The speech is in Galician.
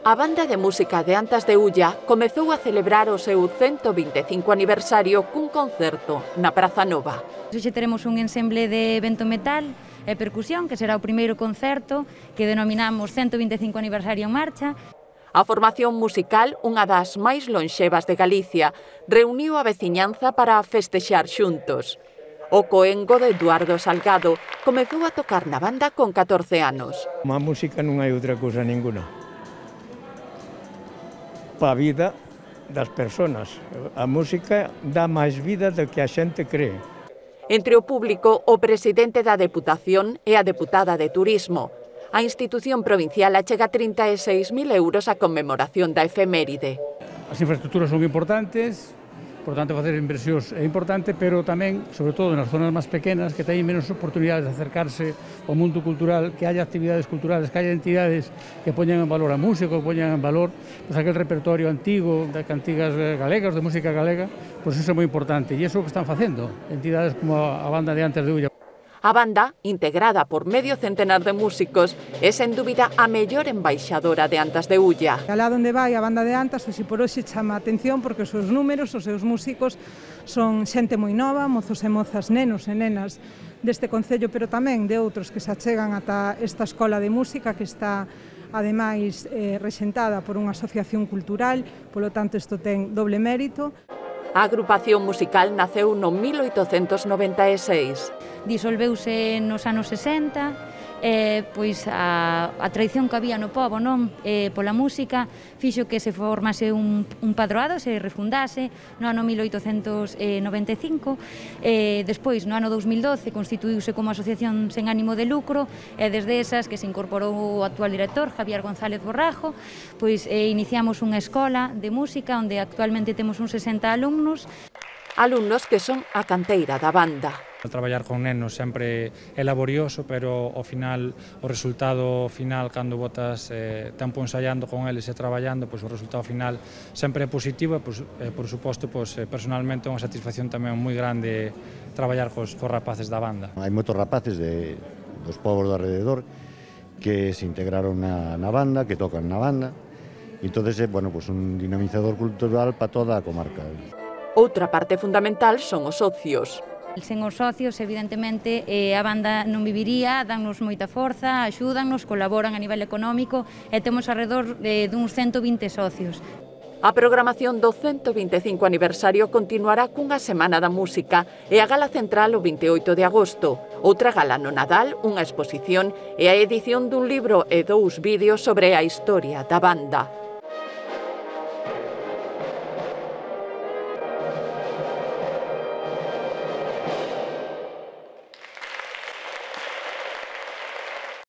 A banda de música de Antas de Ulla comezou a celebrar o seu 125 aniversario cun concerto na Praza Nova. Hoxe teremos un ensemble de vento metal e percusión, que será o primeiro concerto que denominamos 125 aniversario en marcha. A formación musical, unha das máis lonxevas de Galicia, reuniu a veciñanza para festexar xuntos. O coengo de Eduardo Salgado comezou a tocar na banda con 14 anos. A música non hai outra cousa ninguna para a vida das persoas. A música dá máis vida do que a xente cree. Entre o público, o presidente da Deputación e a deputada de Turismo. A institución provincial achega 36.000 euros a conmemoración da efeméride. As infraestructuras son importantes, por tanto facer inversións é importante, pero tamén, sobre todo nas zonas máis pequenas, que teñen menos oportunidades de acercarse ao mundo cultural, que haya actividades culturales, que haya entidades que poñan en valor a música, que poñan en valor aquel repertorio antigo de cantigas galegas, de música galega, pois iso é moi importante, e iso é o que están facendo entidades como a banda de Antas de Ulla. A banda, integrada por medio centenar de músicos, é sen dúbida a mellor embaixadora de Antas de Ulla. Alá onde vai a banda de Antas, hoxe por hoxe chama a atención porque os seus números, os seus músicos son xente moi nova, mozos e mozas, nenos e nenas deste concello, pero tamén de outros que se achegan ata esta escola de música que está ademais rexentada por unha asociación cultural, polo tanto isto ten doble mérito. A agrupación musical naceu no 1896. Disolveuse nos anos 60, pois a tradición que había no pobo, non, pola música, fixo que se formase un padroado, se refundase no ano 1895, despois no ano 2012 constituíuse como asociación sen ánimo de lucro, e desde esas que se incorporou o actual director, Javier González Borrajo, pois iniciamos unha escola de música onde actualmente temos uns 60 alumnos. Alumnos que son a canteira da banda. Traballar con nenos sempre é laborioso, pero ao final, o resultado final, cando botas tempo ensaiando con eles e traballando, pois o resultado final sempre é positivo e, por suposto, personalmente é unha satisfacción tamén moi grande traballar cos rapaces da banda. Hai moitos rapaces dos povos do alrededor que se integraron na banda, que tocan na banda, e entón é un dinamizador cultural para toda a comarca. Outra parte fundamental son os socios. Sen os socios, evidentemente, a banda non viviría, dannos moita forza, axúdannos, colaboran a nivel económico e temos alrededor duns 120 socios. A programación do 125 aniversario continuará cunha Semana da Música e a gala central o 28 de agosto, outra gala no Nadal, unha exposición e a edición dun libro e 2 vídeos sobre a historia da banda.